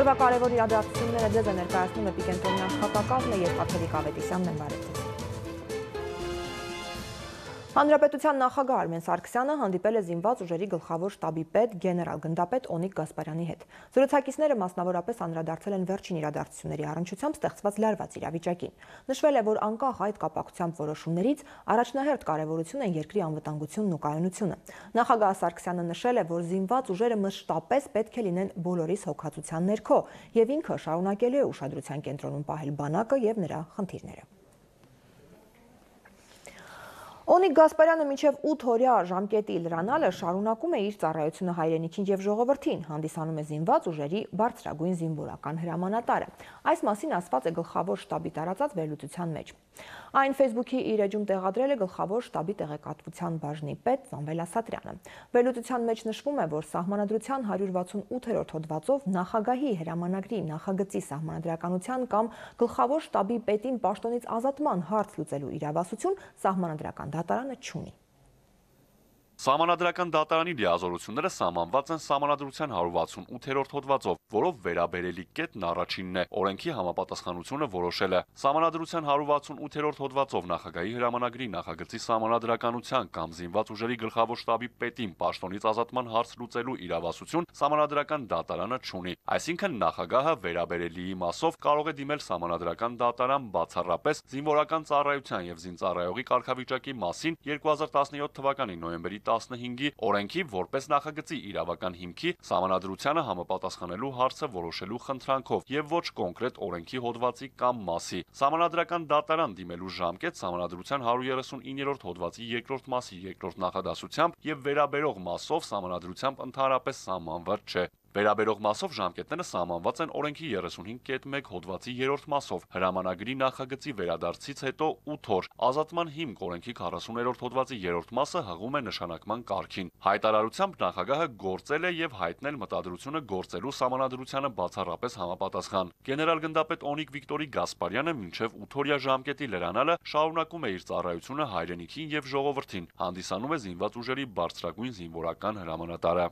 Օրվա կարևոր իրադարձությունները ձեզ է ներկայացնում Էպիկենտրոնյան քաղաքակազմը եւ Հաթերի Կավետիսյանն են բարեկամներ։ Հանրապետության նախագահ Արմեն Սարգսյանը հանդիպել է զինված ուժերի գլխավոր շտաբի պետ գեներալ գնդապետ Օնիկ Գասպարյանի հետ։ Զրուցակիցները մասնավորապես անդրադարձել են վերջին իրադարձությունների առնչությամբ ստեղծված լարված իրավիճակին։ Նշվել է, որ անկախ այդ կապակցությամբ որոշումներից առաջնահերթ կարևորություն են երկրի անվտանգությունն ու կայունությունը։ Նախագահ Սարգսյանը նշել է, որ զինված ուժերը մշտապես պետք է լինեն բոլորիս հոգացության ներքո եւ ինքը շարունակելու է ուշադրության կենտրոնում պահել բանակը եւ նրա խնդիրները։ Օնիկ Գասպարյանը մինչև 8 օրյա ժամկետի լրանալը շարունակում է իր ծառայությունը հայրենիքին եւ ժողովրդին, հանդիսանում է զինված ուժերի բարձրագույն զինվորական հրամանատարը։ Այս մասին ասված է գլխավոր շտաբի տարածած վերլուծության մեջ։ Այն Facebook-ի իր էջում տեղադրել է գլխավոր շտաբի տեղեկատվության բաժնի պետ Սամվել Ասատրյանը։ Վերլուծության մեջ նշվում է, որ Սահմանադրության 168-րդ հոդվածով նախագահի հրամանագրի նախագծի սահմանադրականության կամ գլխավոր շտաբի պետին պաշտոնից ազատման հարց լուծելու իրավասություն Սահմանադրական դատարանը չունի։ Սահմանադրական դատարանի լիազորությունները սահմանված են Սահմանադրության 168-րդ հոդվածով, որով վերաբերելի կետն առաջինն է, օրենքի համապատասխանությունը որոշել է։ Սահմանադրության 168-րդ հոդվածով նախագահի հրամանագրի նախագծի սահմանադրականության կամ զինված ուժերի գլխավոր շտաբի պետին պաշտոնից ազատման հարց լուծելու իրավասություն Սահմանադրական դատարանը չունի։ Այսինքն նախագահը վերաբերելիի մասով կարող է դիմել Սահմանադրական դատարան բացառապես զինվորական ծառայության եւ զինծառայողի կարգավիճակի մասին 2017 թվականի նոյեմբերի 15-ի օրենքի որպես նախագծի իրավական հիմքի Սահմանադրությանը համապատասխանելու հարցը որոշելու խնդրանքով եւ ոչ կոնկրետ օրենքի հոդվածի կամ մասի։ Սահմանադրական դատարան դիմելու ժամկետ Սահմանադրության 139-րդ հոդվածի 2-րդ մասի 2-րդ նախադասությամբ եւ վերաբերող մասով Սահմանադրությամբ ընդհանրապես սահմանված չէ։ Վերաբերող մասով ժամկետները սահմանված են օրենքի 35.1 հոդվածի 3-րդ մասով, հրամանագրի նախագծի վերադարձից հետո 8 օր, ազատման հիմք օրենքի 40-րդ հոդվածի 3-րդ մասը հղում է նշանակման կարգին։ Հայտարարությամբ նախագահը գործել է եւ հայտնել մտադրությունը գործելու Սահմանադրությանը բացառապես համապատասխան։ Գեներալ գնդապետ Օնիկ Վիկտորի Գասպարյանը մինչև 8 օրյա ժամկետի լրանալը շարունակում է իր ծառայությունը հայրենիքին եւ ժողովրդին, հանդիսանում է զինված ուժերի բարձրագույն զինվորական հրամանատարը։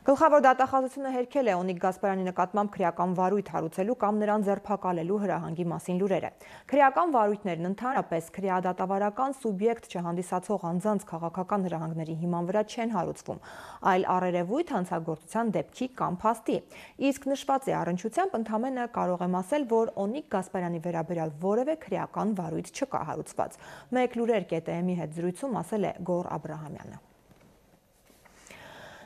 Գլխավոր դատախազությունը հերքել է Օնիկ Գասպարյանի նկատմամբ քրեական վարույթ հարուցելու կամ նրան ձերբակալելու հրահանգի մասին լուրերը։ Քրեական վարույթներն ընդհանրապես քրեադատավարական սուբյեկտ չհանդիսացող անձանց քաղաքական հրահանգների հիման վրա չեն հարուցվում, այլ առերևույթ հանցագործության դեպքի կամ փաստի։ Իսկ նշված է առնչությամբ ընդամենը կարող եմ ասել, որ Օնիկ Գասպարյանի վերաբերյալ որևէ քրեական վարույթ չկա հարուցված։ Մեկ լուրեր ԿՏՄ-ի հետ զրույցում ասել է Գոռ Աբրահամյանը։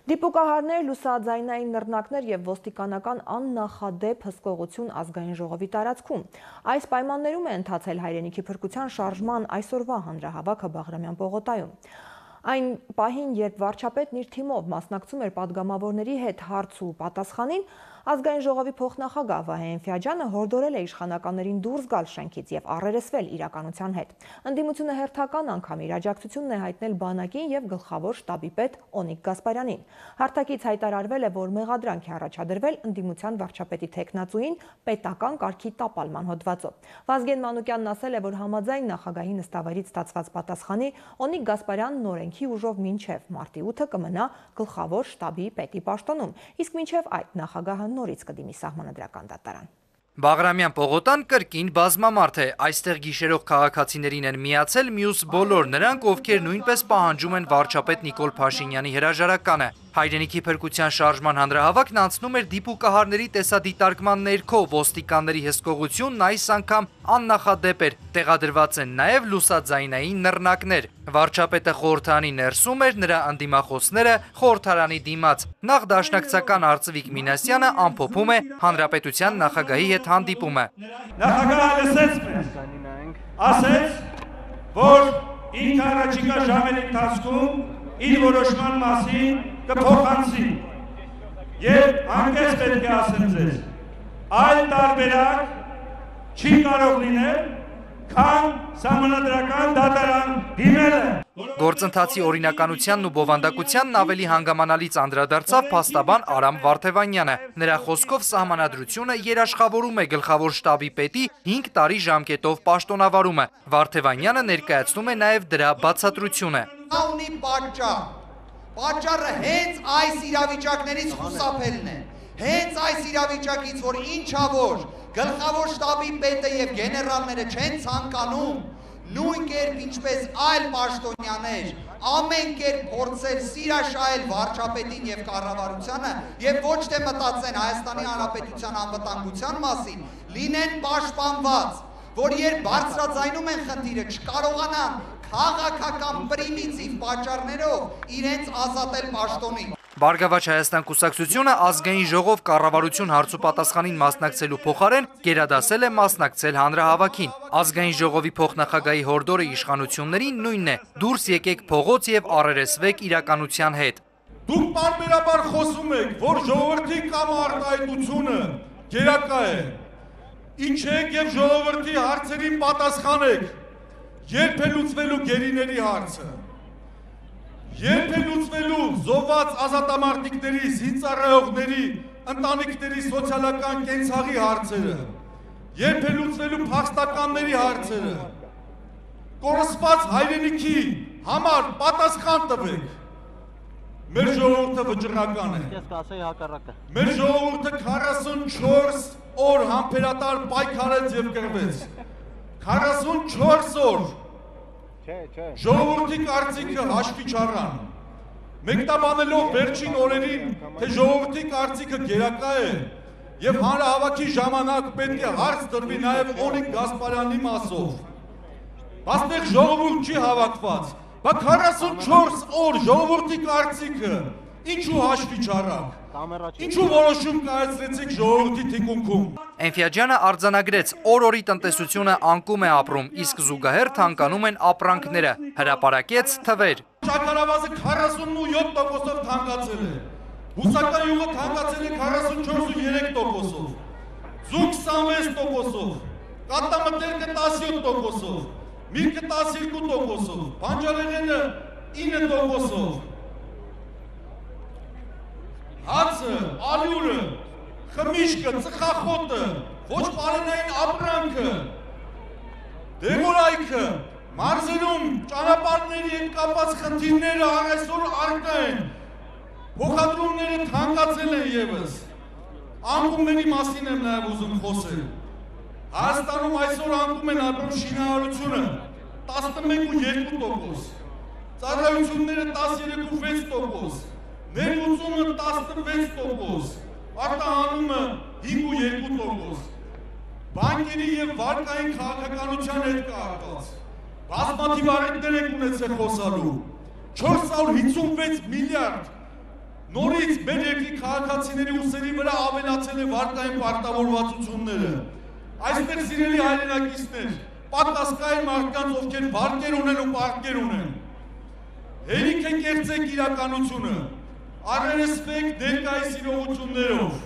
Դիպուկահարներ, լուսաձայնային նռնակներ եւ ոստիկանական աննախադեպ հսկողություն ազգային ժողովի տարածքում։ Այս պայմաններում է ընթացել հայրենիքի փրկության շարժման այսօրվա հանրահավաքը Բաղրամյան պողոտայում։ Այն պահին, երբ վարչապետն իր թիմով մասնակցում էր պատգամավորների հետ հարց ու պատասխանին, ազգային ժողովի փոխնախագահ Վահե Էնֆիաջյանը հորդորել է իշխանականներին դուրս գալ շենքից եւ առերեսվել իրականության հետ։ Ընդդիմությունը հերթական անգամ իր աջակցությունն է հայտնել բանակին եւ գլխավոր շտաբի պետ Օնիկ Գասպարյանին։ Հարթակից հայտարարվել է, որ մեղադրանք է առաջադրվել ընդդիմության վարչապետի թեկնածուին պետական կարգի տապալման հոդվածով։ Վազգեն Մանուկյանն ասել է, որ համաձայն նախագահի նստավայրից ստացված պատասխանի Օնիկ Գասպարյանն օրենքի ուժով մինչև մարտի 8-ը կմնա գլխավոր շտաբի պետի պաշտոնում, իսկ մինչև այդ նախագահը նորից կդիմի Սահմանադրական դատարան։ Բաղրամյան պողոտան կրկին բազմամարդ է, այստեղ գիշերող քաղաքացիներին են միացել մյուս բոլոր նրանք, ովքեր նույնպես պահանջում են վարչապետ Նիկոլ Փաշինյանի հրաժարականը։ Հայրենիքի փրկության շարժման հանրահավաքն անցնում էր դիպուկահարների տեսադիտարկման ներքո, ոստիկանների հսկողությունն այս անգամ աննախադեպ էր, տեղադրված են նաև լուսաձայնային նռնակներ։ Վարչապետը խորհրդարանի ներսում էր, նրա ընդդիմախոսները խորհրդարանի դիմաց։ Նախ դաշնակցական Արծվիկ Մինասյանը ամփոփում է հանրապետության նախագահի հետ հանդիպումը։ Նախագահը լսեց մեզ, ասեց, որ ինքը առաջիկա ժամերի ընթացքում իր որոշման մասին կփոխանցի եւ անկես պետք է ասեմ ձեզ, այլ տարբերակ չի կարող լինել, քան Սահմանադրական դատարան դիմելը։ Գործընթացի օրինականությանն ու բովանդակությանն ավելի հանգամանալից անդրադարձավ փաստաբան Արամ Վարդևանյանը։ Նրա խոսքով Սահմանադրությունը երաշխավորում է գլխավոր շտաբի պետի 5 տարի ժամկետով պաշտոնավարումը։ Վարդևանյանը ներկայացնում է նաև դրա բացատրությունը։ Նա ունի պատճառ։ Պատճառը հենց այս իրավիճակներից խուսափելն է։ Հենց այս իրավիճակից, որ ինչա որ գլխավոր շտաբի պետը եւ գեներալները չեն ցանկանում նույն կերպ ինչպես այլ պաշտոնյաներ ամեն կերպ փորձել սիրաշահել վարչապետին եւ կառավարությանը եւ ոչ թե մտածեն Հայաստանի Հանրապետության անվտանգության մասին, լինեն պաշտպանված, որ երբ բարձրաձայնում են խնդիրը չկարողանան քաղաքական պրիմիտիվ պատճառներով իրենց ազատել պաշտոնին։ Բարգավաճ Հայաստան կուսակցությունը ազգային ժողով կառավարություն հարցու պատասխանին մասնակցելու փոխարեն գերադասել է մասնակցել հանրահավաքին։ Ազգային ժողովի փոխնախագահի հորդորը իշխանություններին նույնն է՝ դուրս եկեք փողոց եւ առերեսվեք իրականության հետ։ Դուք պարբերաբար խոսում եք, որ ժողովրդի կամ արտահայտությունը գերակա է։ Իջեք եւ ժողովրդի հարցերին պատասխանեք։ Երբ է լուծվելու գերիների հարցը։ Երբ է լուծվելու զոհված ազատամարտիկների, զինծառայողների, ընտանիքների սոցիալական կենցաղի հարցերը, երբ է լուծվելու փախստականների հարցերը, կորսված հայրենիքի համար պատասխան տվեք։ Մեր ժողովուրդը վճռական է։ Մեր ժողովուրդը 44 օր համբերատար պայքարեց եւ կռվեց։ 44 օր։ Ժողովրդի կարծիքը հաշվի չառան։ Մեկնաբանելով վերջին օրերին, թե ժողովրդի կարծիքը գերակա է եւ հանրահավաքի ժամանակ պետք է հարց դրվի նաեւ Օնիկ Գասպարյանի մասով։ Այստեղ ժողովուրդ չի հավաքված, բայց 44 օր ժողովրդի կարծիքը ինչու հաշվի չառաք։ Ինչու որոշում կայացրեցիք ժողովրդի թիկունքում։ Էնֆիաջյանը արձանագրեց, օր-օրի տնտեսությունը անկում է ապրում, իսկ զուգահեռ թանկանում են ապրանքները, հրապարակեց թվեր։ Շաքարավազը 47%-ով թանկացել է, բուսական յուղը թանկացել է 44.3%-ով, զուգ 26%-ով, կատամտերքը 17%-ով, միրգը 12%-ով, բանջարեղենը 9%-ով, հացը, ալյուրը, խմիչքը, ծխախոտը, ոչ պարենային ապրանքը, դեղորայքը, մարզերում ճանապարհների հետ կապված խնդիրները այսօր առկա են, փոխադրումները թանկացել են եւս, անկումների մասին եմ նաեւ ուզում խոսել։ Հայաստանում այսօր անկում են ապրում շինարարությունը 11.2%, ծառայությունները 13.6%, ներմուծումը 16%, արտահանումը 5.2%, բանկերի եւ վարկային քաղաքականության հետ կապված, բազմաթիվ առիթներ եք ունեցել խոսալու, 456 միլիարդ, նորից մեր երկրի քաղաքացիների ուսերի վրա ավելացել է վարկային պարտավորվածությունները, այստեղ սիրելի հայրենակիցներ, պատասխանային մարդկանց, ովքեր վարկեր ունեն ու պարտքեր ունեն, հերիք է կերծեք իրականությունը, առերեսվեք ներկայիս իրողություններով,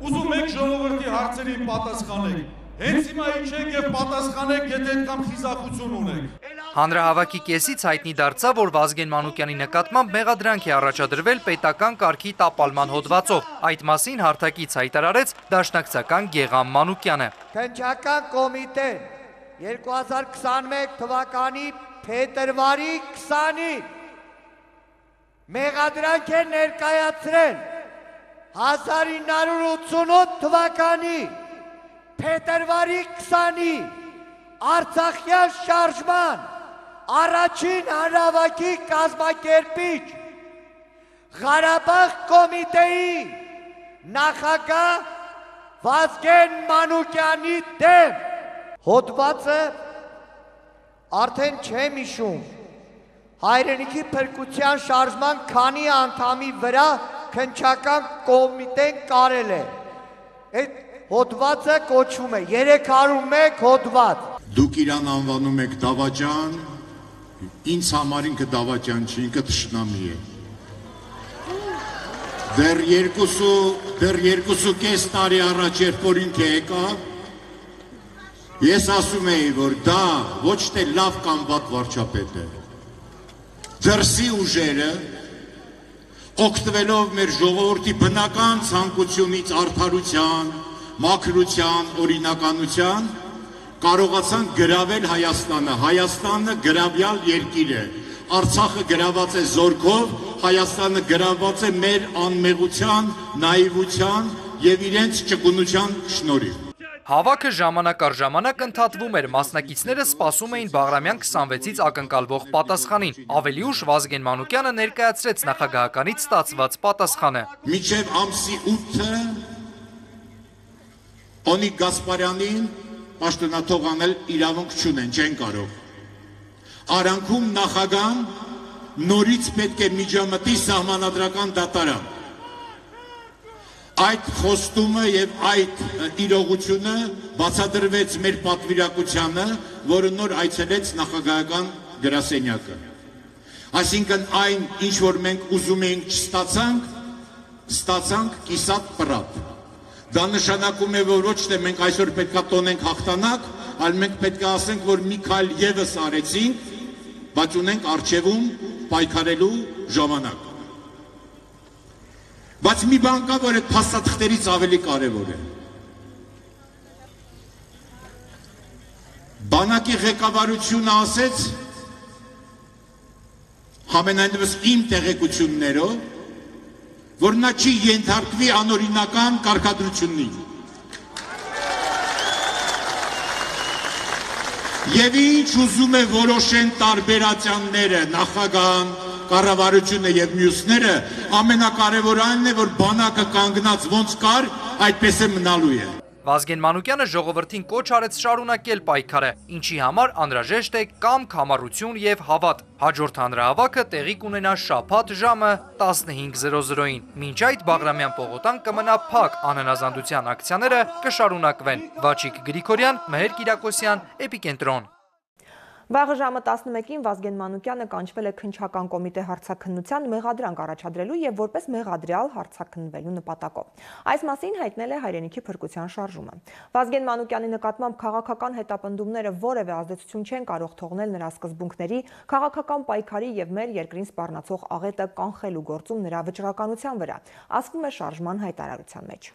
ուզում եք ժողովրդի հարցերին պատասխանեք, հենց հիմա իջեք եւ պատասխանեք, եթե այդքան խիզախություն ունեք։ Հանրահավաքի կեսից հայտնի դարձավ, որ Վազգեն Մանուկյանի նկատմամբ մեղադրանք է առաջադրվել պետական կարգի տապալման հոդվածով։ Այդ մասին հարթակից հայտարարեց դաշնակցական Գեգամ Մանուկյանը։ Քննչական կոմիտեն 2021 թվականի փետրվարի 20-ին մեղադրանք է ներկայացրել 1988 թվականի փետրվարի 20-ի Արցախյան շարժման առաջին հանրահավաքի կազմակերպիչ Ղարաբաղ կոմիտեի նախագահ Վազգեն Մանուկյանի դեմ հոդվածը արդեն չեմ հիշում հայրենիքի փրկության շարժման քանի անդամի վրա քննչական կոմիտեն կարել է այդ հոդվածը կոչվում է 301 հոդված Դուք իրան անվանում եք դավաճան, ինձ համար ինքը դավաճան չի, ինքը թշնամի է։ Դեռ երկուսու կես տարի առաջ երբ որ ինքը եկավ, ես ասում էի, որ դա ոչ թե լավ կամ վատ վարչապետ է։ Դրսի ուժերը, օգտվելով մեր ժողովրդի բնական ցանկությունից արդարության, մաքրության, օրինականության, կարողացան գրավել Հայաստանը, Հայաստանը գրավյալ երկիր է, Արցախը գրաված է զորքով, Հայաստանը գրաված է մեր անմեղության, նաիվության եւ իրենց ճկունության շնորհիվ։ Հավաքը ժամանակ առ ժամանակ ընդհատվում էր, մասնակիցները սպասում էին Բաղրամյան 26-ից ակնկալվող պատասխանին։ Ավելի ուշ Վազգեն Մանուկյանը ներկայացրեց նախագահականից ստացված պատասխանը։ Մինչև ամսի 8-ը Օնիկ Գասպարյանին պաշտոնաթող անել իրավունք չունեն, չեն կարող։ Արանքում նախագահան նորից պետք է միջամտի սահմանադրական դատարան։ Այդ խոստումը եւ այդ իրողությունը բացատրվեց մեր պատվիրակությանը, որը նոր այցելեց նախագահական գրասենյակը։ Այսինքն այն, ինչ որ մենք ուզում էինք չստացանք կիսատ պրատ։ Դա նշանակում է, որ ոչ թե մենք այսօր պետքա տոնենք հաղթանակ, այլ մենք պետք է ասենք, որ մի քայլ եւս արեցինք, բայց ունենք առջևում պայքարելու ժամանակ։ Բայց մի բան կա, որ այդ փաստաթղթերից ավելի կարևոր է։ Բանակի ղեկավարությունը ասեց, համենայնդեպս իմ տեղեկություններով, որ նա չի ենթարկվի անօրինական կարգադրություններին։ Եվ ինչ ուզում է որոշեն տարբերացյանները, նախագահան, կառավարությունը եւ մյուսները, ամենակարևորը այն է, որ բանակը կանգնած ոնց կար, այդպես է մնալու է։ Վազգեն Մանուկյանը ժողովրդին կոչ արեց շարունակել պայքարը, ինչի համար անհրաժեշտ է կամք, համառություն եւ հավատ։ Հաջորդ հանրահավաքը տեղի կունենա շաբաթ ժամը 15:00-ին։ Մինչ այդ Բաղրամյան պողոտան կմնա փակ, անհնազանդության ակցիաները կշարունակվեն։ Վաչիկ Գրիգորյան, Մհեր Կիրակոսյան, Էպիկենտրոն։ Վաղը ժամը 11-ին Վազգեն Մանուկյանը կանչվել է քննչական կոմիտե հարցաքննության մեղադրանք առաջադրելու եւ որպես մեղադրյալ հարցաքննվելու նպատակով։ Այս մասին հայտնել է հայրենիքի փրկության շարժումը։ Վազգեն Մանուկյանի նկատմամբ քաղաքական հետապնդումները որևէ ազդեցություն չեն կարող թողնել նրա սկզբունքների, քաղաքական պայքարի եւ մեր երկրին սպառնացող աղետը կանխելու գործում նրա վճռականության վրա, ասվում է շարժման հայտարարության մեջ։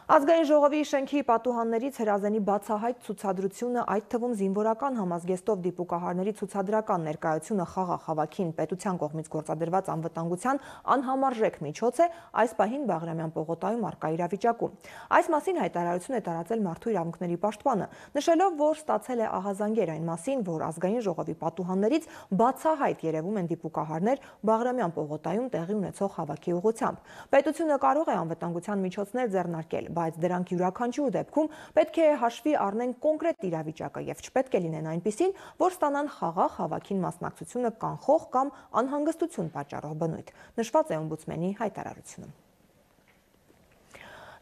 Ազգային ժողովի շենքի պատուհաններից հրազենի բացահայտ ցուցադրությունը, այդ թվում զինվորական համազգեստով դիպուկահարների ցուցադրական ներկայությունը խաղաղ հավաքին պետության կողմից գործադրված անվտանգության անհամարժեք միջոց է այս պահին Բաղրամյան պողոտայում առկա իրավիճակում։ Այս մասին հայտարարություն է տարածել Մարդու իրավունքների պաշտպանը, նշելով, որ ստացել է ահազանգեր այն մասին, որ ազգային ժողովի պատուհաններից բացահայտ երևում են դիպուկահարներ Բաղրամյան պողոտայում տեղի ունեցող հավաքի ուղղությամբ։ Պետությունը կարող է անվտանգության միջոցներ ձեռնարկել, բայց դրանք յուրաքանչյուր դեպքում պետք է հաշվի առնեն կոնկրետ իրավիճակը եւ չպետք է լինեն այնպիսին, որ ստանան խաղաղ հավաքին մասնակցությունը կանխող կամ անհանգստություն պատճառող բնույթ, նշված է օմբուդսմենի հայտարարությունում։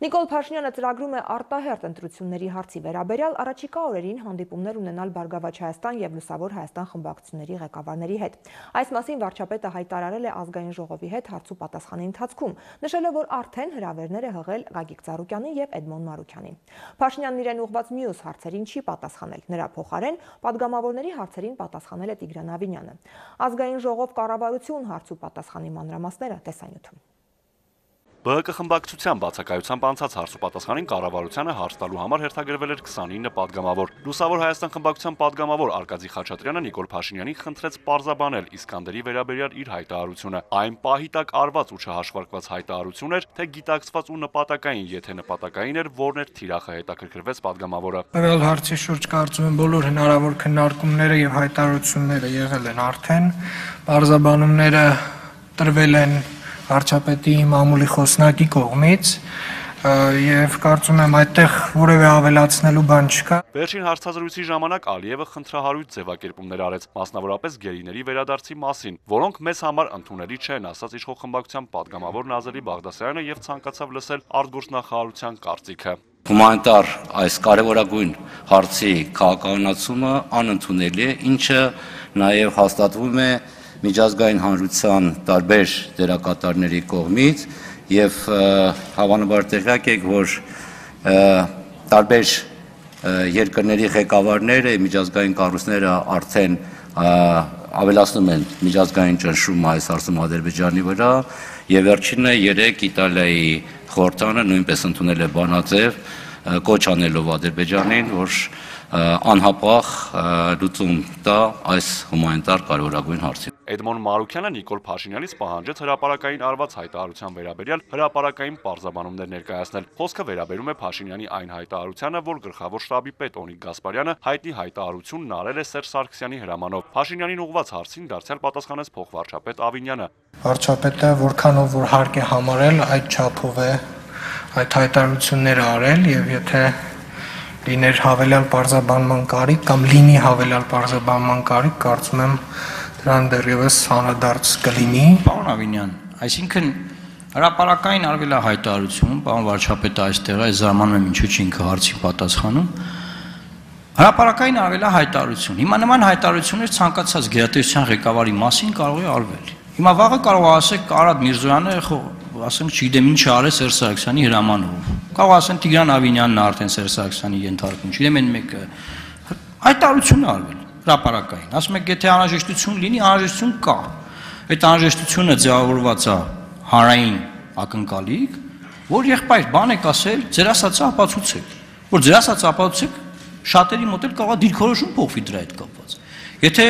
Նիկոլ Փաշինյանը ծրագրում է արտահերթ ընտրությունների հարցի վերաբերյալ առաջիկա օրերին հանդիպումներ ունենալ Բարգավաճ Հայաստան եւ Լուսավոր Հայաստան խմբակցությունների ղեկավարների հետ։ Այս մասին վարչապետը հայտարարել է ազգային ժողովի հետ հարց ու պատասխանի ընթացքում, նշելով, որ արդեն հրավերներ է հղել Գագիկ Ծառուկյանին եւ Էդմոն Մարուքյանին։ Փաշինյանն իրեն ուղղված մյուս հարցերին չի պատասխանել։ Նրա փոխարեն падգամավորների հարցերին պատասխանել է Տիգրան Ավինյանը։ Ազգային ժողով կառավարություն հարց ու պատասխանի մանրամասները տեսանյութում։ ԲՀԿ խմբակցության բացակայությամբ անցած հարց ու պատասխանին կառավարությանը հարց տալու համար հերթագրվել էր 29 падգամավոր։ Լուսավոր Հայաստան խմբակցության падգամավոր Արկադի Խաչատրյանը Նիկոլ Փաշինյանին խնդրեց պարզաբանել Իսկանդերի վերաբերյալ իր հայտարարությունը։ Այն պահի տակ արված ու չհաշվարկված հայտարարություն էր, թե գիտակցված ու նպատակային, եթե նպատակային էր, որն էր թիրախը, հետաքրքրվեց падգամավորը։ Տվյալ հարցի շուրջ կարծում եմ բոլոր հնարավոր քննարկումները եւ հայտարարությունները եղել են արդեն, պարզաբանումները տրվել են վարչապետի մամուլի խոսնակի կողմից եւ կարծում եմ այդտեղ որևէ ավելացնելու բան չկա։ Վերջին հարցազրույցի ժամանակ Ալիևը խնդրահարույց ձևակերպումներ արեց, մասնավորապես գերիների վերադարձի մասին, որոնք մեզ համար ընդունելի չեն, ասաց իշխող խմբակցության падգամավոր Նազելի Բաղդասարյանը եւ ցանկացավ լսել արտգործնախարարության կարծիքը։ Հումանիտար այս կարևորագույն հարցի քաղաքականացումը անընդունելի է, ինչը նաեւ հաստատվում է միջազգային հանրության տարբեր դերակատարների կողմից եւ հավանաբար տեղյակ եք, որ տարբեր երկրների ղեկավարները, միջազգային կառույցները արդեն ավելացնում են միջազգային ճնշումը այս հարցում Ադրբեջանի վրա եւ վերջինը 3 Իտալիայի խորհրդանը նույնպես ընդունել է բանաձև կոչ անելով Ադրբեջանին, որ անհապաղ լուծում տա այս հումանիտար կարևորագույն հարցին։ Էդմոն Մարուքյանը Նիկոլ Փաշինյանից պահանջեց հրապարակային արված հայտարարության վերաբերյալ հրապարակային պարզաբանումներ ներկայացնել։ Խոսքը վերաբերում է Փաշինյանի այն հայտարարությանը, որ գլխավոր շտաբի պետ Օնիկ Գասպարյանը հայտնի հայտարարությունն արել է Սերժ Սարգսյանի հրամանով։ Փաշինյանին ուղղված հարցին դարձյալ պատասխանեց փոխվարչապետ Ավինյանը։ Վարչապետը որքանով որ հարկ է համարել, այդ չափով է այդ հայտարարությունները արել, եւ եթե լիներ հավելյալ պարզաբանման կարիք կամ լինի հավելյալ պարզաբանման կարիք, կարծում եմ դրան դեռևս հանրադարձ կլինի։ Պարոն Ավինյան, այսինքն հրապարակային արվել է հայտարարություն, պարոն վարչապետը այստեղ է, զարմանում եմ ինչու՞ չի ինքը հարցի պատասխանում։ Հրապարակային արվել է հայտարարություն։ Հիմա նման հայտարարություններ ցանկացած գերատեսչության ղեկավարի մասին կարող է արվել։ Հիմա վաղը կարող է ասեք Արադ Միրզոյանը, ասենք, չգիտեմ ինչ արել Սերժ Սարգսյանի հրամանով։ Կարող ասեն Տիգրան Ավինյանն է արդեն Սերժ Սարգսյանի ենթարկում, չգիտեմ այն մեկը։ Հայտարարություն է արվել հրապարակային։ Ասում եք, եթե անհրաժեշտություն լինի, անհրաժեշտություն կա։ Այդ անհրաժեշտությունը ձևավորված է հանրային ակնկալիք, որ եղբայր բան եք ասել, ձեր ասածը ապացուցեք, որ ձեր ասածը ապացուցեք, շատերի մոտ էլ կարող է դիրքորոշում փոխվի դրա հետ կապված։ Եթե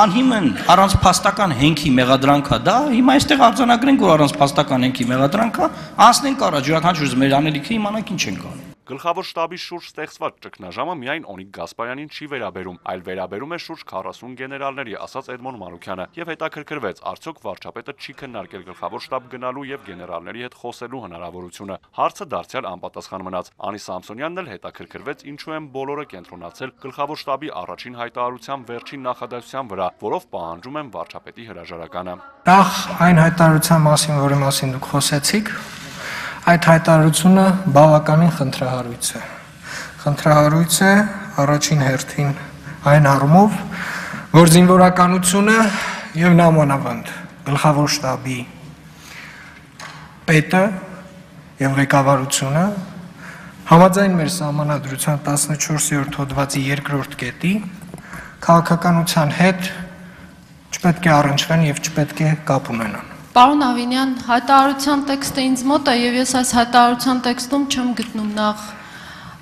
անհիմն առանց փաստական հենքի մեղադրանքա դա, հիմա այստեղ արձանագրենք, որ առանց փաստական հենքի մեղադրանքա, անցնենք առաջ, յուրաքանչյուր մեր անելիքը իմանանք ինչ ենք անում։ Գլխավոր շտաբի շուրջ ստեղծված ճգնաժամը միայն Օնիկ Գասպարյանին չի վերաբերում, այլ վերաբերում է շուրջ 40 գեներալների, ասաց Էդմոն Մարուքյանը, եւ հետաքրքրվեց, արդյոք վարչապետը չի քննարկել գլխավոր շտաբ գնալու եւ գեներալների հետ խոսելու հնարավորությունը։ Հարցը դարձյալ անպատասխան մնաց։ Անի Սամսոնյանն էլ հետաքրքրվեց, ինչու են բոլորը կենտրոնացել գլխավոր շտաբի առաջին հայտարարության վերջին նախադասության վրա, որով պահանջում են վարչապետի հրաժարականը։ Նախ այն հայտարարության մասին, որի մասին դուք խոսեցիք, այդ հայտարարությունը բավականին խնդրահարույց է։ Խնդրահարույց է առաջին հերթին այն առումով, որ զինվորականությունը եւ նամանավանդ գլխավոր շտաբի պետը եւ ղեկավարությունը համաձայն մեր սահմանադրության 14-րդ հոդվածի 2-րդ կետի քաղաքականության հետ չպետք է առնչվեն եւ չպետք է կապ ունենան։ Պարոն Ավինյան, հայտարարության տեքստը ինձ մոտ է եւ ես այս հայտարարության տեքստում չեմ գտնում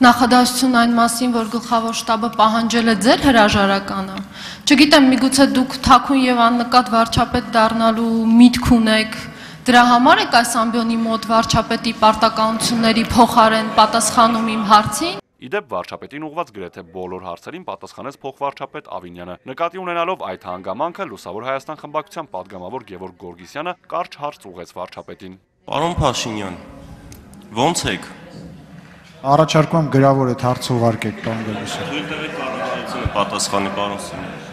նախադասություն այն մասին, որ գլխավոր շտաբը պահանջել է ձեր հրաժարականը։ Չգիտեմ, միգուցե դուք թաքուն եւ աննկատ վարչապետ դառնալու միտք ունեք, դրա համար եք այս ամբիոնի մոտ վարչապետի պարտականությունների փոխարեն պատասխանում իմ հարցին։ Իդեպ վարչապետին ուղված գրեթե բոլոր հարցերին պատասխանեց փոխվարչապետ Ավինյանը։ Նկատի ունենալով այդ հանգամանքը Լուսավոր Հայաստան խմբակցության падգամավոր Գևորգ Գորգիսյանը կարճ հարց ուղղեց վարչապետին։ Պարոն Փաշինյան, ո՞նց եք։ Առաջարկում եմ գրավոր այդ հարցը ուղարկեք, պարոն Գորգիսյան։ Թույլ տվեք կառավարությունը պատասխանի, պարոն Սիմոնյան։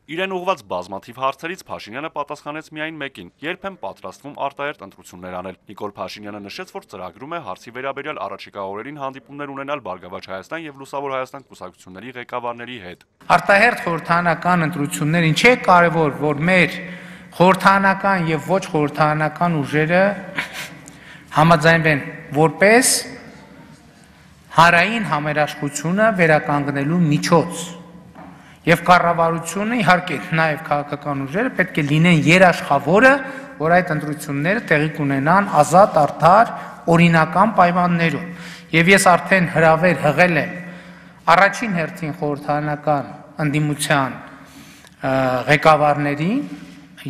Իրեն ուղված բազմաթիվ հարցերից Փաշինյանը պատասխանեց միայն մեկին. երբ են պատրաստվում արտահերթ ընտրություններ անել։ Նիկոլ Փաշինյանը նշեց, որ ծրագրում է հարցի վերաբերյալ առաջիկա օրերին հանդիպումներ ունենալ Բարգավաճ Հայաստան եւ Լուսավոր Հայաստան կուսակցությունների ղեկավարների հետ։ Արտահերթ խորհրդարանական ընտրություններ ինչի է կարևոր, որ մեր խորհրդարանական եւ ոչ խորհրդարանական ուժերը համաձայնվեն որպես հանրային համերաշխությունը վերականգնելու միջոց։ Եվ կառավարությունը, իհարկե, նաև քաղաքական ուժերը պետք է լինեն երաշխավորը, որ այդ ընտրությունները տեղի կունենան ազատ, արդար, օրինական պայմաններում։ Եվ ես արդեն հրավեր հղել եմ առաջին հերթին խորհրդարանական ընդդիմության ղեկավարներին,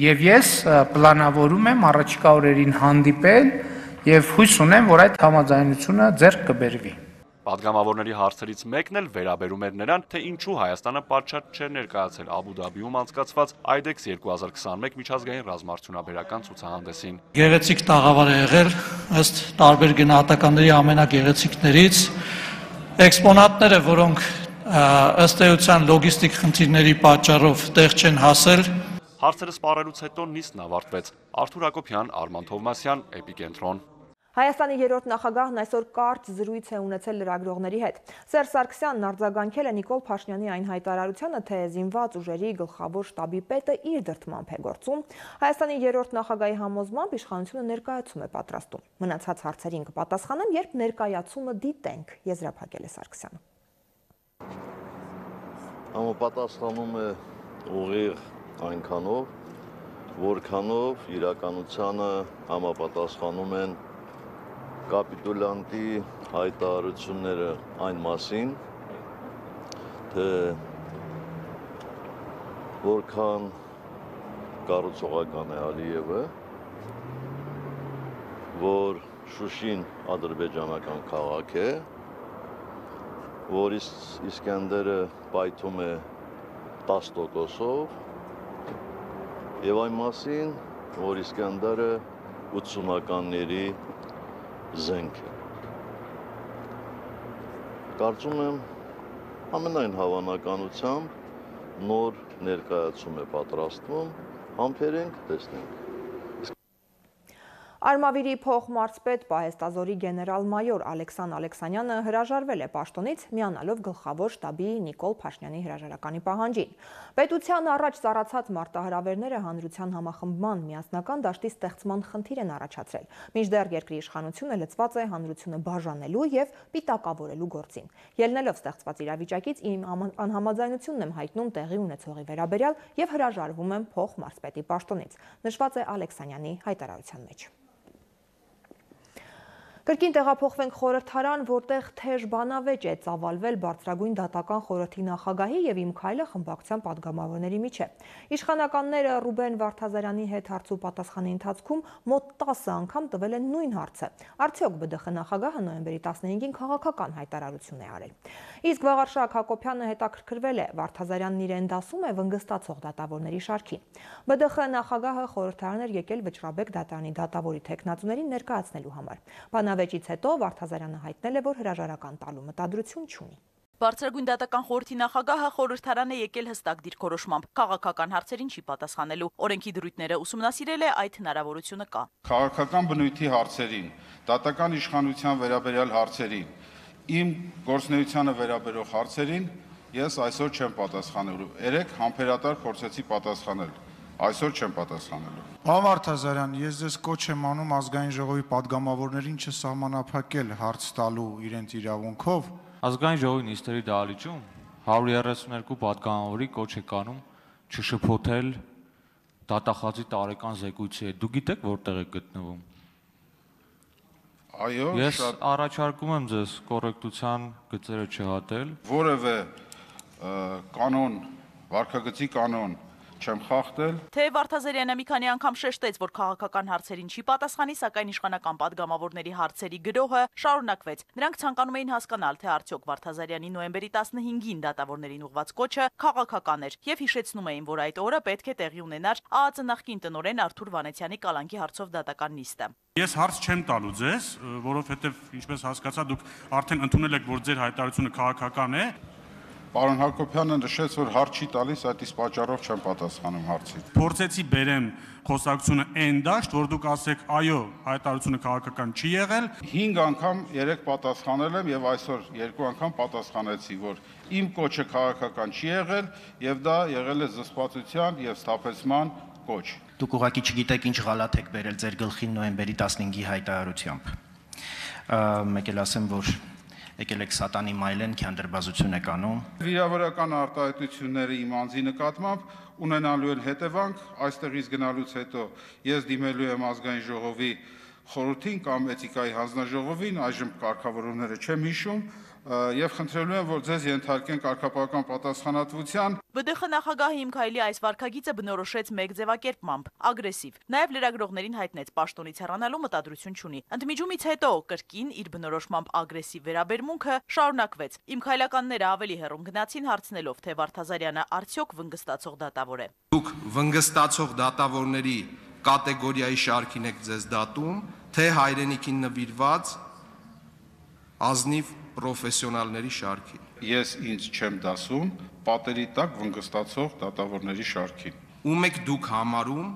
եւ ես պլանավորում եմ առաջիկա օրերին հանդիպել եւ հույս ունեմ, որ այդ համաձայնությունը ձեռք կբերվի։ Պատգամավորների հարցերից մեկն էլ վերաբերում էր նրան, թե ինչու Հայաստանը պատշաճ չէր ներկայացել Աբու Դաբիում անցկացված IDEX 2021 միջազգային ռազմարդյունաբերական ցուցահանդեսին։ Գեղեցիկ տաղավար է եղել, ըստ տարբեր գնահատականների ամենագեղեցիկներից, էքսպոնատները, որոնք ըստ էության լոգիստիկ խնդիրների պատճառով տեղ չեն հասել։ Հարցերը սպառելուց հետո նիստն ավարտվեց։ Արթուր Հակոբյան, Արման Թովմասյան, Էպիկենտրոն։ Հայաստանի երրորդ նախագահն այսօր կարճ զրույց է ունեցել լրագրողների հետ։ Սերժ Սարգսյանն արձագանքել է Նիկոլ Փաշինյանի այն հայտարարությանը, թե զինված ուժերի գլխավոր շտաբի պետը իր դրդմամբ է գործում։ Հայաստանի երրորդ նախագահի համոզմամբ իշխանությունը ներկայացում է պատրաստում։ Մնացած հարցերին կպատասխանեմ, երբ ներկայացումը դիտենք, եզրափակել է Սարգսյանը։ Համապատասխանում է ուղիղ այնքանով, որքանով իրականությանը համապատասխանում են կապիտուլյանտի հայտարարությունները այն մասին, թե որքան կառուցողական է Ալիևը, որ Շուշին ադրբեջանական քաղաք է, որ Իսկենդերը պայթում է 10%-ով եւ այն մասին, որ Իսկենդերը 80-ականների զենք է։ Կարծում եմ ամենայն հավանականությամբ նոր ներկայացում է պատրաստվում, համբերենք, տեսնենք։ Արմավիրի փոխմարզպետ պահեստազորի գեներալ-մայոր Ալեքսան Ալեքսանյանը հրաժարվել է պաշտոնից, միանալով գլխավոր շտաբի Նիկոլ Փաշինյանի հրաժարականի պահանջին։ Պետության առաջ ծառացած մարտահրավերները հանրության համախմբման միասնական դաշտի ստեղծման խնդիր են առաջացրել, մինչդեռ երկրի իշխանությունը լծված է հանրությունը բաժանելու եւ պիտակավորելու գործին։ Ելնելով ստեղծված իրավիճակից իմ անհամաձայնությունն եմ հայտնում տեղի ունեցողի վերաբերյալ եւ հրաժարվում եմ փոխմարզպետի պաշտոնից, նշված է Ալեքսանյանի հայտարարության մեջ։ Կրկին տեղափոխվենք խորհրդարան, որտեղ թեժ բանավեճ է ծավալվել Բարձրագույն դատական խորհրդի նախագահի եւ Իմ քայլը խմբակցության падգամավորների միջեւ։ Իշխանականները Ռուբեն Վարդազարյանի հետ հարց ու պատասխանի ընթացքում մոտ 10 անգամ տվել են նույն հարցը։ Արդյոք ԲԴԽ նախագահը նոյեմբերի 15-ին քաղաքական հայտարարություն է արել։ Իսկ Վաղարշակ Հակոբյանը հետաքրքրվել է Վարդազարյանն իրեն դասում է վնգստացող դատավորների շարքին։ ԲԴԽ նախագահը խորհրդարան էր եկել Վճռաբեկ դատարանի դատավորի թեկնածուներին ներկայացնելու համար։ Բանավեճից հետո Վարդազարյանը հայտնել է, որ հրաժարական տալու մտադրություն չունի։ Բարձրագույն դատական խորհրդի նախագահը խորհրդարան է եկել հստակ դիրքորոշմամբ, քաղաքական հարցերին չի պատասխանելու։ Օրենքի դրույթները ուսումնասիրել է, այդ հնարավորությունը կա։ Քաղաքական բնույթի հարցերին, դատական իշխանության վերաբերյալ հարցերին, իմ գործունեությանը վերաբերող հարցերին ես այսօր չեմ պատասխանելու։ Երեք համբերատար փորձեցի պատասխանել, այսօր չեմ պատասխանելու։ Պարոն Վարդազարյան, ես ձեզ կոչ եմ անում ազգային ժողովի падգամավորներին չսահմանափակել հարց տալու իրենց իրավունքով։ Ազգային ժողովի նիստերի դահլիճում 132 падգամավորի կոչ է կանում չշփոթել դատախազի տարեկան զեկույցի հետ։ Դու գիտեք որտեղ է գտնվում։ Այո, ես առաջարկում եմ ձեզ կոռեկտության գծերը չհատել։ Որևէ կանոն, վարքագծի կանոն չեմ խախտել։ Թե Վարդազարյանը մի քանի անգամ շեշտեց, որ քաղաքական հարցերին չի պատասխանի, սակայն իշխանական падգամավորների հարցերի գրոհը շարունակվեց։ Նրանք ցանկանում էին հասկանալ, թե արդյոք Վարդազարյանի նոյեմբերի 15-ին դատավորներին ուղված կոչը քաղաքական էր եւ հիշեցնում էին, որ այդ օրը պետք է տեղի ունենար ԱԱԾ նախկին տնօրեն Արթուր Վանեցյանի կալանքի հարցով դատական նիստը։ Ես հարց չեմ տալու ձեզ, որովհետեւ ինչպես հասկացա, դուք արդեն ընդունել եք, որ ձեր հայտարարությունը քաղաքական է։ Պարոն Հակոբյանը նշեց, որ հարց չի տալիս, այդ իսկ պատճառով չեմ պատասխանում հարցին։ Փորձեցի բերեմ խոսակցությունը այն դաշտ, որ դուք ասեք, այո, հայտարարությունը քաղաքական չի եղել։ 5 անգամ 3 պատասխանել եմ եւ այսօր 2 անգամ պատասխանեցի, որ իմ կոչը քաղաքական չի եղել եւ դա եղել է զսպվածության եւ սթափեցման կոչ։ Դուք ուղղակի չգիտեք ինչ գալաթ եք բերել ձեր գլխին նոյեմբերի 15-ի հայտարարությամբ։ Մեկ էլ ասեմ, որ եկել եք սատանի մայլեն քանդրբազություն եք անում։ Վիրավորական արտահայտությունները իմ անձի նկատմամբ ունենալու են հետևանք, այստեղից գնալուց հետո ես դիմելու եմ ազգային ժողովի խորհրդին կամ էթիկայի հանձնաժողովին, այժմ կարգավորումները չեմ հիշում, եւ խնդրելու եմ, որ ձեզ ենթարկեն կարգապահական պատասխանատվության։ ԲԴԽ նախագահը Իմ քայլի այս վարքագիծը բնորոշեց մեկ ձևակերպմամբ՝ ագրեսիվ։ Նաև լրագրողներին հայտնեց պաշտոնից հեռանալու մտադրություն չունի։ Ընդմիջումից հետո կրկին իր բնորոշմամբ ագրեսիվ վերաբերմունքը շարունակվեց։ Իմ քայլականները ավելի հեռուն գնացին հարցնելով, թե Վարդազարյանը արդյոք վնգստացող դատավոր է։ Դուք վնգստացող դատավորների կատեգորիայի շարքին եք ձեզ դատում, թե հայրենիքին նվիրված ազնիվ պրոֆեսիոնալների շարքին։ Ես ինձ չեմ դասում պատերի տակ վնգստացող դատավորների շարքին։ Ում եք դուք համարում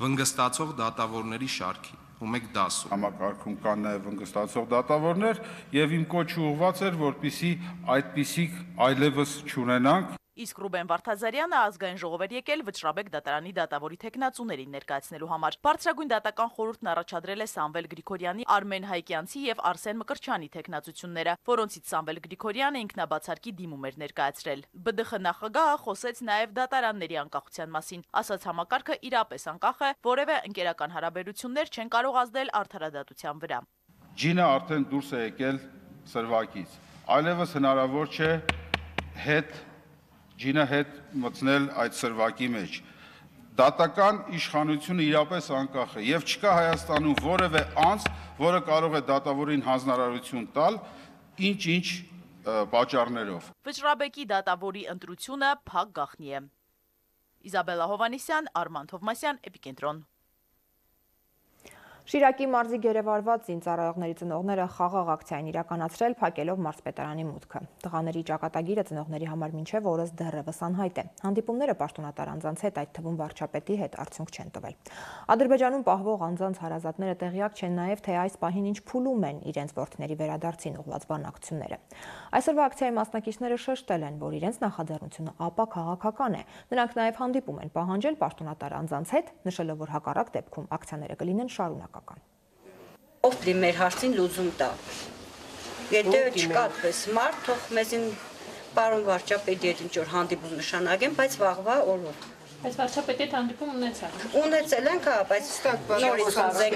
վնգստացող դատավորների շարքին, ում եք դասում։ Համակարգում կան նաև վնգստացող դատավորներ եւ իմ կոչը ուղղված էր, որպիսի այդպիսիք այլևս չունենանք։ Իսկ Ռուբեն Վարդազարյանը ազգային ժողով էր եկել Վճռաբեկ դատարանի դատավորի թեկնածուներին ներկայացնելու համար։ Բարձրագույն դատական խորհուրդն առաջադրել է Սամվել Գրիգորյանի, Արմեն Հայկյանցի եւ Արսեն Մկրտչյանի թեկնածությունները, որոնցից Սամվել Գրիգորյանը ինքնաբացարկի դիմում էր ներկայացրել։ ԲԴԽ նախագահը խոսեց նաեւ դատարանների անկախության մասին, ասաց համակարգը իրապես անկախ է, որևէ ընկերական հարաբերություններ չեն կարող ազդել արդարադատության վրա։ Ջինը արդեն դուրս է եկել սրվակից։ Այլևս հնարավոր չէ ջինը հետ մտնել այդ սրվակի մեջ։ դատական իշխանությունը իրապես անկախ է եւ չկա Հայաստանում որևէ անձ, որը կարող է դատավորին հանձնարարություն տալ ինչ-ինչ պատճառներով։ Վճռաբեկի դատավորի ընտրությունը փակ գաղտնի է։ Իզաբելլա Հովանեսյան, Արման Թովմասյան, Էպիկենտրոն։ Շիրակի մարզի գերեվարված զինծառայողների ծնողները խաղաղ ակցիա են իրականացրել, փակելով մարզպետարանի մուտքը։ Տղաների ճակատագիրը ծնողների համար մինչև օրս դեռևս անհայտ է։ Հանդիպումները պաշտոնատար անձանց հետ, այդ թվում վարչապետի հետ, արդյունք չեն տվել։ Ադրբեջանում պահվող անձանց հարազատները տեղյակ չեն նաև, թե այս պահին ինչ փուլում են իրենց որդիների վերադարձին ուղղված բանակցությունները։ Այսօրվա ակցիայի մասնակիցները շեշտել են, որ իրենց նախաձեռնությունը ապա քաղաքական է։ Նրանք նաև հանդիպում են պահանջել պաշտոնատար անձանց հետ, նշելով, որ հակառակ դեպքում ակցիաները կլինեն շարունակական։ Ով մեր հարցին լուծում տա։ Եթե չկա այդպես մարդ, թող մեզին պարոն վարչապետի հետ ինչ-որ հանդիպում նշանակեն, բայց վաղվա օրով։ Բայց վարչապետի հետ հանդիպում ունեցաք։ Ունեցել ենք, բայց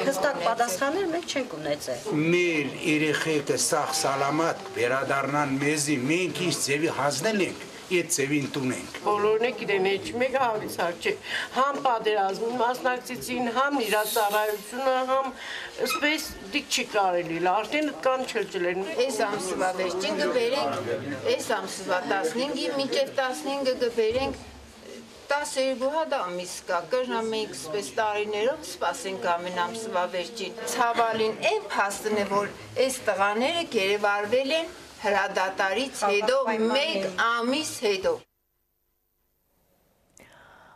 հստակ պատասխաններ մենք չենք ունեցել։ Մեր երեխեքը սաղ սալամատ վերադառնան մեզի, մենք ինչ ձևի հանձնել ենք, այդ ձևին տունենք։ Բոլորն է գիտեն, էջ մեկ հավիցար չէ, համ պատերազմին մասնակցեցին, համ իրացարայությունը, համ սպես դիք չի կարելի, արդեն կան չլջլեն։ Այս ամսվա վերջին գբերենք, այս ամսվա 15-ի մինչև 15-ը գբերենք 12 հատ ամիս կա, կրնամենք սպես տարիներով սպասենք ամեն ամսվա վերջին։ Ցավալին այն փաստն է, որ այս տղաները գերեվարվել են հրադադարից հետո, մեկ ամիս հետո։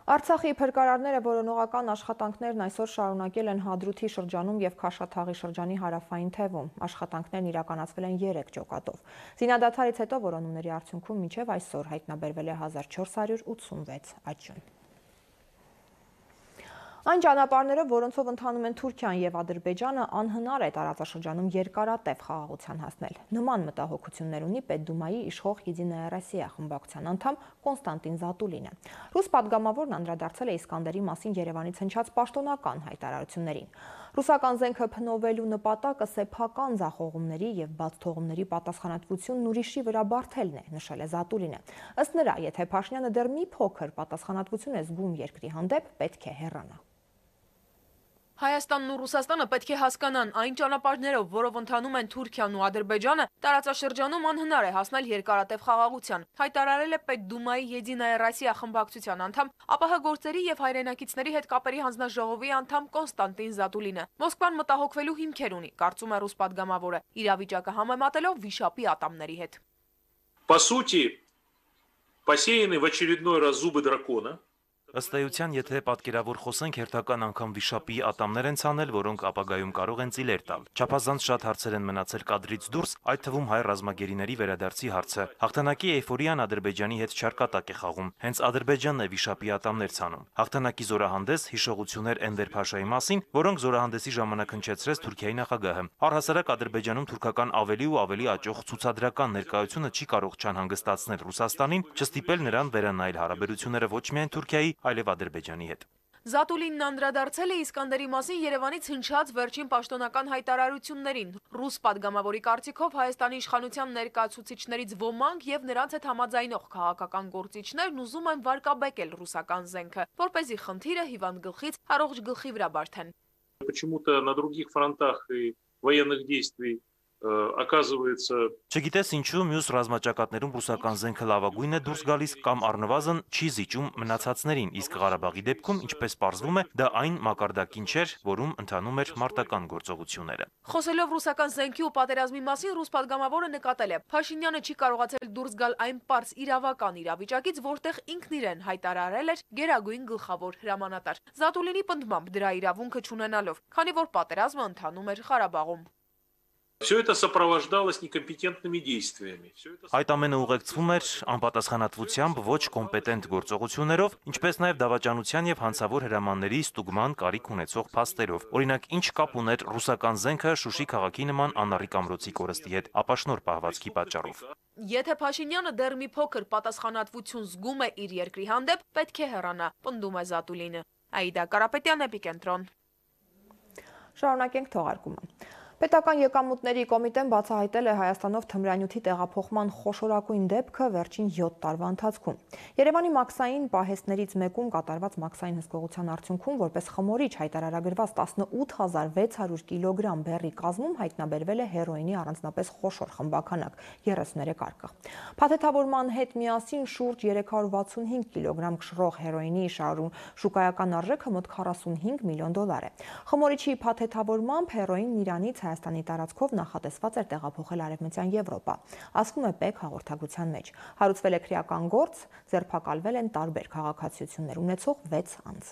Արցախի փրկարարները որոնողական աշխատանքներն այսօր շարունակել են Հադրութի շրջանում եւ Քաշաթաղի շրջանի հարավային թևում։ Աշխատանքներն իրականացվել են 3 ջոկատով։ Զինադադարից հետո որոնումների արդյունքում մինչև այսօր հայտնաբերվել է 1486 աճյուն։ Այն ճանապարհներով, որոնցով ընթանում են Թուրքիան եւ Ադրբեջանը, անհնար է տարածաշրջանում երկարատև խաղաղության հասնել։ Նման մտահոգություններ ունի Պետդումայի իշխող Եդիная Россия խմբակցության անդամ Կոնստանտին Զատուլինը։ Ռուս պատգամավորն անդրադարձել է Իսկանդերի մասին Երևանից հնչած պաշտոնական հայտարարություններին։ Ռուսական զենքը փնովելու նպատակը սեփական ձախողումների եւ բաց թողումների պատասխանատվությունն ուրիշի վրա բարթելն է, նշել է Զատուլինը։ Ըստ նրա, եթե Փաշինյանը դեռ մի փոքր պատասխանատվություն է զգում երկրի հանդեպ, պետք է հեռանա։ Հայաստանն ու Ռուսաստանը պետք է հասկանան, այն ճանապարհներով, որով ընթանում են Թուրքիան ու Ադրբեջանը, տարածաշրջանում անհնար է հասնել երկարատև խաղաղության, հայտարարել է Պետդումայի Եդիная Россия խմբակցության անդամ, ԱՊՀ գործերի եւ հայրենակիցների հետ կապերի հանձնաժողովի անդամ Կոնստանտին Զատուլինը։ Մոսկվան մտահոգվելու հիմքեր ունի, կարծում է ռուս պատգամավորը, իրավիճակը համեմատելով վիշապի ատամների հետ։ По сути, посеяны в очередной раз зубы дракона. Ըստ էության, եթե պատկերավոր խոսենք, հերթական անգամ վիշապի ատամներ են ցանել, որոնք ապագայում կարող են ծիլեր տալ։ Չափազանց շատ հարցեր են մնացել կադրից դուրս, այդ թվում հայ ռազմագերիների վերադարձի հարցը։ Հաղթանակի էյֆորիան Ադրբեջանի հետ չարկատակ է խաղում, հենց Ադրբեջանն է վիշապի ատամներ ցանում։ Հաղթանակի զորահանդես հիշողություններ Էնվեր Փաշայի մասին, որոնք զորահանդեսի ժամանակ հնչեցրեց Թուրքիայի նախագահը։ Առհասարակ Ադրբեջանում թուրքական ավելի ու ավելի աճող ցուցադրական ներկայությունը չի կարող չանհանգստացնել Ռուսաստանին, չստիպել նրան վերանայել հարաբերությունները ոչ միայն Թուրքիայի, այլև Ադրբեջանի հետ։ Զատուլինն անդրադարձել է Իսկանդերի մասին Երևանից հնչած վերջին պաշտոնական հայտարարություններին։ Ռուս պատգամավորի կարծիքով Հայաստանի իշխանության ներկայացուցիչներից ոմանք եւ նրանց հետ համաձայնող քաղաքական գործիչներն ուզում են վարկաբեկել ռուսական զենքը, որպեսզի խնդիրը հիվանդ գլխից առողջ գլխի վրա բարթեն։ Почему-то на других фронтах и военных действий оказывается Չգիտես ինչու մյուս ռազմաճակատներում ռուսական զենքը լավագույնն է դուրս գալիս կամ առնվազն չի զիջում մնացածներին, իսկ Ղարաբաղի դեպքում, ինչպես պարզվում է, դա այն մակարդակին չէր, որում ընթանում էր մարտական գործողությունները։ Խոսելով ռուսական զենքի ու պատերազմի մասին, ռուս պատգամավորը նկատել է, Փաշինյանը չի կարողացել դուրս գալ այն պարզ իրավական իրավիճակից, որտեղ ինքն իրեն հայտարարել էր գերագույն գլխավոր հրամանատար։ Զատուլինի պնդմամբ դրա իրավունքը չունենալով, քանի որ պատերազմը ընթանում էր Ղարաբաղում։ Все это сопровождалось некомпетентными действиями. Այդ ամենը ուղեկցվում էր անպատասխանատվությամբ, ոչ կոմպետենտ գործողություններով, ինչպես նաև դավաճանության եւ հանցավոր հրամանների ստուգման կարիք ունեցող փաստերով։ Օրինակ, ինչ կապ ուներ ռուսական զենքը Շուշի քաղաքի նման անառիկ ամրոցի կորստի հետ, ապաշնոր պահվածքի պատճառով։ Եթե Փաշինյանը դեռ մի փոքր պատասխանատվություն զգում է իր երկրի հանդեպ, պետք է հեռանա, պնդում է Զատուլինը։ Աիդա Կարապետյան, Էպիկենտրոն։ Շարունակենք թողարկումը։ Պետական եկամուտների կոմիտեն բացահայտել է Հայաստանով թմրանյութի տեղափոխման խոշորագույն դեպքը վերջին 7 տարվա ընթացքում։ Երևանի մաքսային պահեստներից մեկում կատարված մաքսային հսկողության արդյունքում որպես խմորիչ հայտարարագրված 18600 կիլոգրամ բեռի կազմում հայտնաբերվել է հերոինի առանձնապես խոշոր խմբաքանակ 33 արկղ։ Փաթեթավորման հետ միասին շուրջ 365 կիլոգրամ կշռող հերոինի շուկայական արժեքը մոտ 45 միլիոն դոլար է։ Խմորիչի փաթեթավորմամբ հերոինն Իրանից Հայաստանի տարածքով նախատեսված էր տեղափոխել Արևմտյան Եվրոպա, ասվում է ՊԵԿ հաղորդագրության մեջ։ Հարուցվել է քրեական գործ, ձերբակալվել են տարբեր քաղաքացիություններ ունեցող 6 անձ։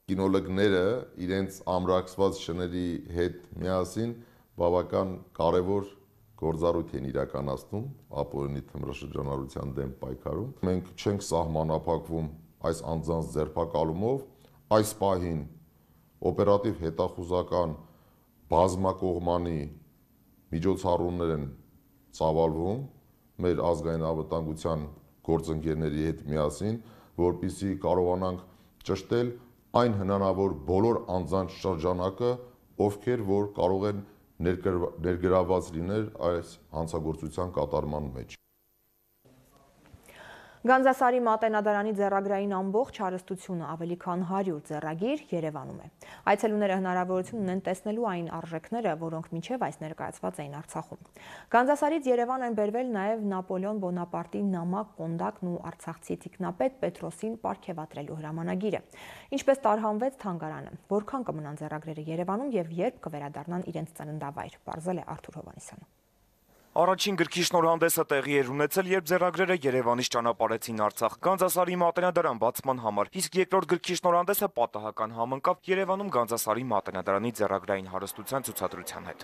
Կինոլոգները իրենց ամրացված շների հետ միասին բավական կարևոր գործառույթ են իրականացնում ապօրինի թմրաշրջանառության դեմ պայքարում։ Մենք չենք սահմանափակվում այս անձանց ձերբակալումով, այս պահին օպերատիվ հետախուզական բազմակողմանի միջոցառումներ են ծավալվում մեր ազգային անվտանգության գործընկերների հետ միասին, որպեսզի կարողանանք ճշտել այն հնարավոր բոլոր անձանց շրջանակը, ովքեր որ կարող են ներգրավված լինել այս հանցագործության կատարման մեջ։ Գանձասարի մատենադարանի ձեռագրային ամբողջ հարստությունը ավելի քան 100 ձեռագիր Երևանում է։ Այցելուները հնարավորություն ունեն տեսնելու այն արժեքները, որոնք մինչև այս ներկայացված էին Արցախում։ Գանձասարից Երևան են բերվել նաև Նապոլեոն Բոնապարտի նամակ կոնդակն ու արցախցի թիկնապետ Պետրոսին պարգևատրելու հրամանագիրը։ Ինչպես տարհանվեց թանգարանը, որքան կմնան ձեռագրերը Երևանում եւ երբ կվերադառնան իրենց ծննդավայր, պարզել է Արթուր Հովհաննիսյանը։ Առաջին գրքի շնորհանդեսը տեղի էր ունեցել, երբ ձեռագրերը Երևանից ճանապարհեցին Արցախ Գանձասարի մատենադարան բացման համար, իսկ երկրորդ գրքի շնորհանդեսը պատահական համընկավ Երևանում Գանձասարի մատենադարանի ձեռագրային հարստության ցուցադրության հետ։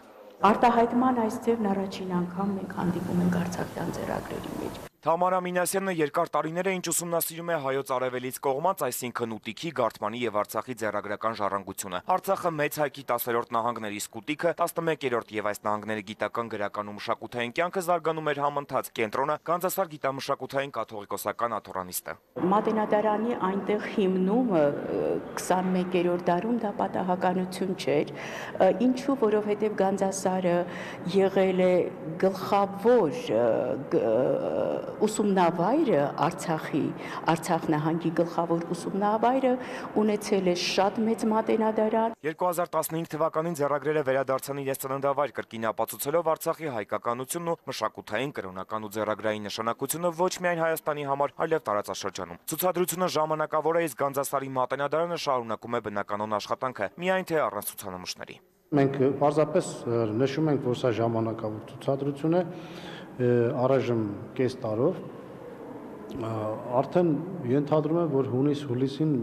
Արտահայտման այս ձևն առաջին անգամ մենք հանդիպում ենք արցախյան ձեռագրերի մեջ։ Թամարա Մինասյանը երկար տարիներ է ինչ ուսումնասիրում է հայոց արևելից կողմած, այսինքն Ուտիքի, Գարթմանի եւ Արցախի ձեռագրական ժառանգությունը։ Արցախը մեծ հայքի 10-րդ նահանգների սկուտիկը, 11-րդ եւ այս նահանգների գիտական, գրական ու մշակութային կյանքը զարգանում էր համընթաց։ Կենտրոնը Գանձասար գիտամշակութային կաթողիկոսական աթոռանիստը։ Մատենադարանի այնտեղ հիմնումը 21-րդ դարում դա պատահականություն չէր, ինչու որովհետեւ Գանձասարը եղել է գլխավոր ուսումնավայրը Արցախ նահանգի գլխավոր ուսումնավայրը ունեցել է շատ մեծ մատենադարան։ 2015 թվականին ձեռագրերը վերադարձան իրենց ծննդավայր, կրկին ապացուցելով Արցախի հայկականությունն ու մշակութային, կրոնական ու ձեռագրային նշանակությունը ոչ միայն Հայաստանի համար, այլև տարածաշրջանում։ Ցուցադրությունը ժամանակավոր է, իսկ Գանձասարի մատենադարանը շարունակում է բնականոն աշխատանքը, միայն թե առանց ցուցանմուշների։ Մենք պարզապես նշում ենք, որ սա ժամանակավոր ցուցադրություն է, առայժմ կես տարով արդեն ենթադրում եմ, որ հունիս-հուլիսին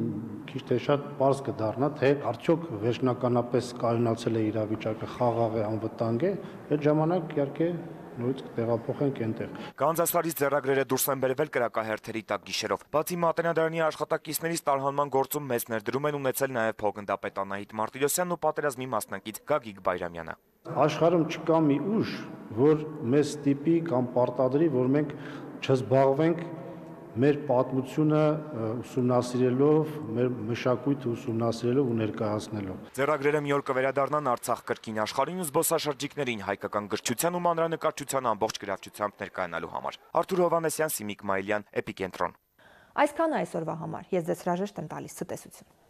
քիչ թե շատ պարզ կդառնա, թե արդյոք վերջնականապես կայունացել է իրավիճակը, խաղաղ է, անվտանգ է, այդ ժամանակ իհարկե նույնիսկ տեղափոխենք այնտեղ։ Գանձասարից ձեռագրերը դուրս են բերվել կրակահերթերի տակ գիշերով։ Բացի մատենադարանի աշխատակիցներից տարհանման գործում մեծ ներդրում են ունեցել նաև փոխգնդապետ Անահիտ Մարտիրոսյանն ու պատերազմի մասնակից Գագիկ Բայրամյանը։ Աշխարհում չկա մի ուժ, որ մեզ ստիպի կամ պարտադրի, որ մենք չզբաղվենք մեր պատմությունը ուսումնասիրելով, մեր մշակույթը ուսումնասիրելով ու ներկայացնելով։ Ձեռագրերը մի օր կվերադառնան Արցախ կրկին աշխարհին ու զբոսաշրջիկներին հայկական գրչության ու մանրանկարչության ամբողջ գրավչությամբ ներկայանալու համար։ Արթուր Հովհաննիսյան, Սիմիկ Մայլյան, Էպիկենտրոն։ Այսքանը այսօրվա համար։ Ես ձեզ հրաժեշտ եմ տալիս ցտեսություն։